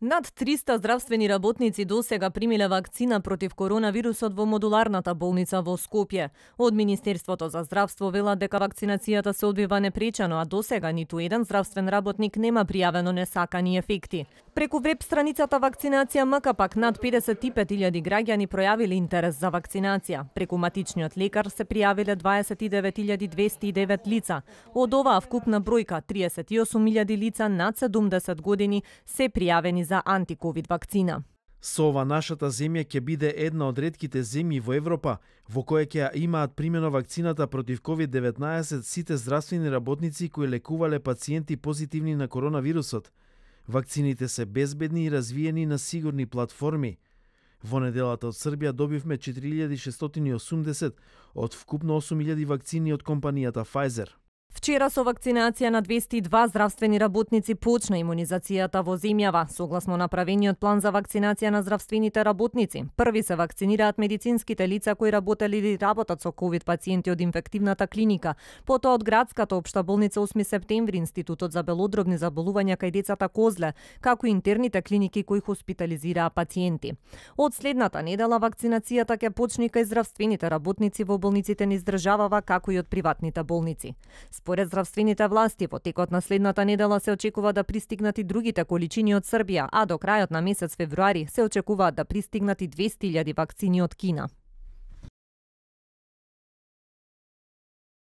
Над 300 здравствени работници досега примиле вакцина против коронавирусот во модуларната болница во Скопје. Од Министерството за здравство велат дека вакцинацијата се одвива непречено, а досега ниту еден здравствен работник нема пријавено несакани ефекти. Преку веб страницата Вакцинација МК пак над 55.000 граѓани пројавиле интерес за вакцинација. Преку матичниот лекар се пријавиле 29.209 лица. Од оваа вкупна бројка 38.000 лица над 70 години се пријавени за антиковид вакцина. Со ова нашата земја ќе биде една од ретките земји во Европа во која ќе имаат примено вакцината против COVID-19 сите здравствени работници кои лекувале пациенти позитивни на коронавирусот. Вакцините се безбедни и развиени на сигурни платформи. Во неделата од Србија добивме 4680 од вкупно 8000 вакцини од компанијата Pfizer. Вчера со вакцинација на 202 здравствени работници почна имунизацијата во земјава, согласно направениот план за вакцинација на здравствените работници. Први се вакцинираат медицинските лица кои работеле или работат со ковид пациенти од инфективната клиника, потоа од градската општа болница 8 септември, Институтот за белодробни заболувања кај децата Козле, како и интерните клиники кои хоспитализираа пациенти. Од следната недела вакцинацијата ќе почне кај здравствените работници во болниците низ државава, како и од приватните болници. Според здравствените власти, во текот на следната недела се очекува да пристигнат и другите количини од Србија, а до крајот на месец февруари се очекуваат да пристигнат и 200.000 вакцини од Кина.